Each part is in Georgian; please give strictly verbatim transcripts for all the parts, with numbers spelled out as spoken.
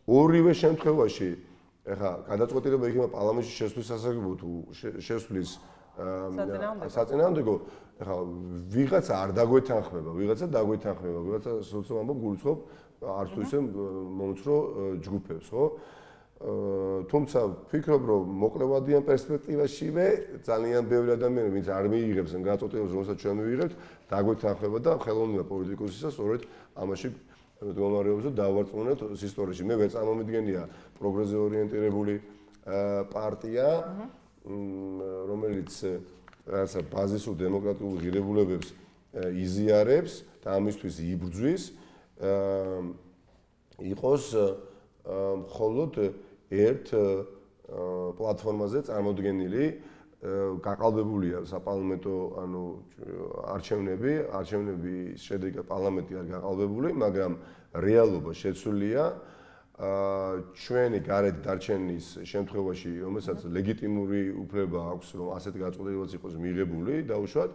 ორივე შემთხვევაში ეხლა გადაწყვეტილება იქნება პარლამენტში შესვლის სასარგებლო თუ შესვლის საწინააღმდეგო, ეხლა ვიღაცა არ დაგვეთანხმება, ვიღაცა დაგვეთანხმება, ვიღაცა სოციალურ ამბობ გულისხმობ არც თუ ისე მომცრო ჯგუფებს, ხო? თუმცა ვფიქრობ, რომ მოკლევადიან პერსპექტივაშივე ძალიან ბევრი ადამიანი, ვინც არ მიიღებს ამ გადაწყვეტილებას, რომელსაც ჩვენ მივიღებთ, დაგვეთანხმება და ხელოვნება პოლიტიკოსისა სწორედ ამაში მდგომარეობს და დავარწმუნოთ ისტორიაში. მე ვერ წარმომიდგენია პროგრესზე ორიენტირებული პარტია, რომელიც რაღაცა ბაზისურ დემოკრატიულ ღირებულებებს იზიარებს და ამისთვის იბრძვის, იყოს მხოლოდ ერთ პლატფორმაზე წარმოდგენილი, გაყალბებულია საპარლამენტო, ანუ არჩევნები, არჩევნების შედეგად პარლამენტი არ გაყალბებული, მაგრამ რეალობა შეცვლილია ჩვენი გარეთ დარჩენის შემთხვევაში, რომელსაც ლეგიტიმური უფლება აქვს, რომ ასეთ გადაწყვეტილებაც იყოს მიღებული, დაუშვათ,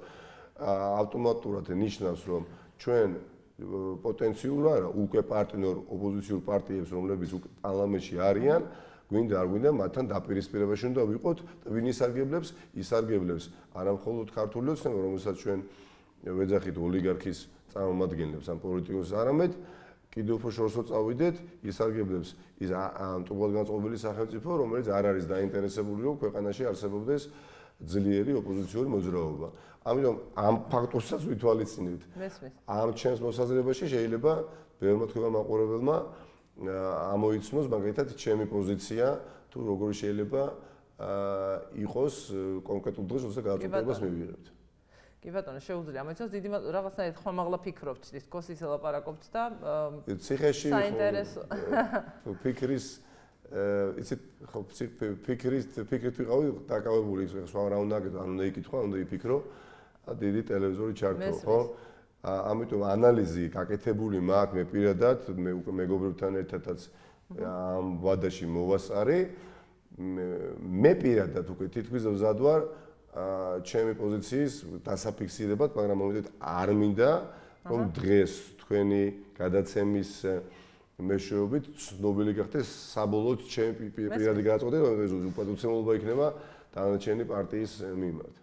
ავტომატურად ნიშნავს, რომ ჩვენ პოტენციურ არა უკვე პარტნიორ ოპოზიციურ პარტიებს, რომლებიც პარლამენტში არიან, გვინდა არ გვინდა მათთან დაპირისპირებაში უნდა ვიყოთ და ვინ ისარგებლებს, ისარგებლებს არა მხოლოდ ქართული ოცნება, რომელსაც ჩვენ ვეძახით ოლიგარქის წარმომადგენლებს ან პოლიტიკოსს, არამედ კიდევ უფრო შორსო წავიდეთ, ისარგებლებს ის მტუბრად განწყობილი სახელმწიფო, რომელიც არ არის დაინტერესებული, რომ ქვეყანაში არსებობდეს ძლიერი ოპოზიციური მოძრაობა. ამიტომ ამ ფაქტორსაც ვითვალისწინებთ. ამ ჩემს მოსაზრებაში შეიძლება ბევრმა თქვა მაყურებელმა ამოიცნოს მაგალითად ჩემი პოზიცია, თუ როგორი შეიძლება იყოს კონკრეტულ დღეს, როცა გადაწყვეტილებას მივიღებთ. კი ბატონო, შეუძლია ამიცოს დიდი რაღაცნაირად ხმამაღლა ფიქრობთ, ის კოსის ელაპარაკობთ და ციხეში საინტერესო ფიქრის იცით ხო ფიქრის ფიქრით ვიყავი დაკავებული, სხვა რა უნდა აკეთო, ან უნდა იკითხო, უნდა იფიქრო, დიდი ტელევიზორი ჩართო, ხო? ამიტომ ანალიზი გაკეთებული მაქვს მე პირადად, მე უკვე მეგობრებთან ერთადაც ამ ვადაში მოვასწარი. მე პირადად უკვე თითქმის ვზად ვარ ჩემი პოზიციის დასაფიქსირებად, მაგრამ მომედით არ მინდა, რომ დღეს თქვენი გადაცემის მეშვეობით ცნობილი გახდეს საბოლოოდ ჩემი პირადი გადაწყვეტილება, რომ უპატივცემულობა იქნება დანარჩენი პარტიის მიმართ.